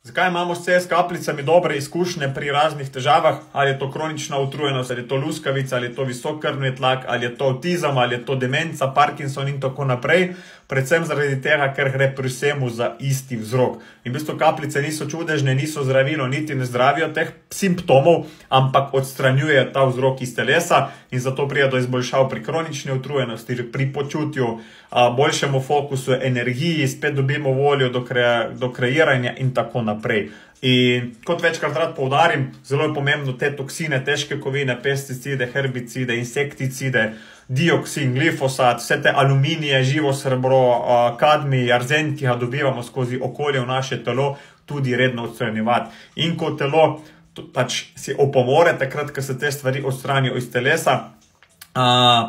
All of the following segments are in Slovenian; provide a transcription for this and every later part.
Zakaj imamo s CS kapljicami dobre izkušnje pri raznih težavah? Ali je to kronična utrujenost, ali je to luskavica, ali je to visok krvni tlak, ali je to avtizem, ali je to demenca, Parkinson in tako naprej. Predvsem zaradi tega, ker gre pri vsemu za isti vzrok. In v bistvu kapljice niso čudežne, niso zdravilo, niti ne zdravijo teh simptomov, ampak odstranjujejo ta vzrok iz telesa in zato pride do izboljšav pri kronični utrujenosti, pri počutju, boljšemu fokusu, energiji, spet dobimo voljo do kreiranja in tako naprej. In kot večkrat rad poudarim, zelo je pomembno te toksine, težke kovine, pesticide, herbicide, insekticide, dioksin, glifosat, vse te aluminije, živo srebro, kadmi, arzen, ki ga dobivamo skozi okolje v naše telo, tudi redno odstranjevati. In ko telo pač si opomore, takrat, ko se te stvari odstranijo iz telesa,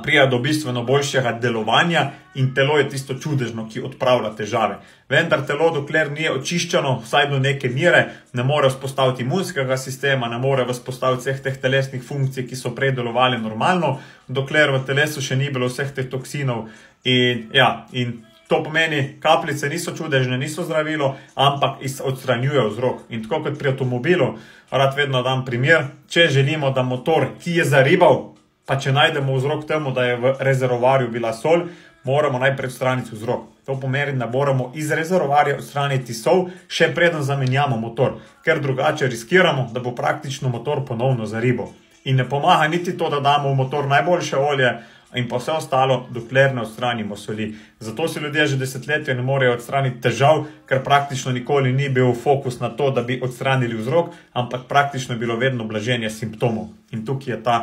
prija do bistveno boljšega delovanja in telo je tisto čudežno, ki odpravlja težave. Vendar telo, dokler ni očiščeno, vsaj do neke mere, ne more vzpostaviti imunskega sistema, ne more vzpostaviti vseh teh telesnih funkcij, ki so prej delovali normalno, dokler v telesu še ni bilo vseh teh toksinov. In to pomeni, kapljice niso čudežne, niso zdravilo, ampak odstranjujejo vzrok. In tako kot pri avtomobilu, rad vedno dam primer, če želimo, da motor, ki je zaribal, pa če najdemo vzrok temu, da je v rezervoarju bila sol, moramo najprej odstraniti vzrok. To pomeni, da moramo iz rezervoarja odstraniti sol, še preden zamenjamo motor, ker drugače riskiramo, da bo praktično motor ponovno zaribal. In ne pomaga niti to, da damo v motor najboljše olje in pa vse ostalo, dokler ne odstranimo soli. Zato si ljudje že desetletja ne morejo odstraniti težav, ker praktično nikoli ni bil fokus na to, da bi odstranili vzrok, ampak praktično je bilo vedno blaženje simptomov. In tukaj je ta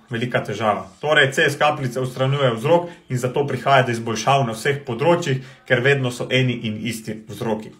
velika težava. Torej, CS kapljice odstranjujejo vzrok in zato prihaja do izboljšav na vseh področjih, ker vedno so eni in isti vzroki.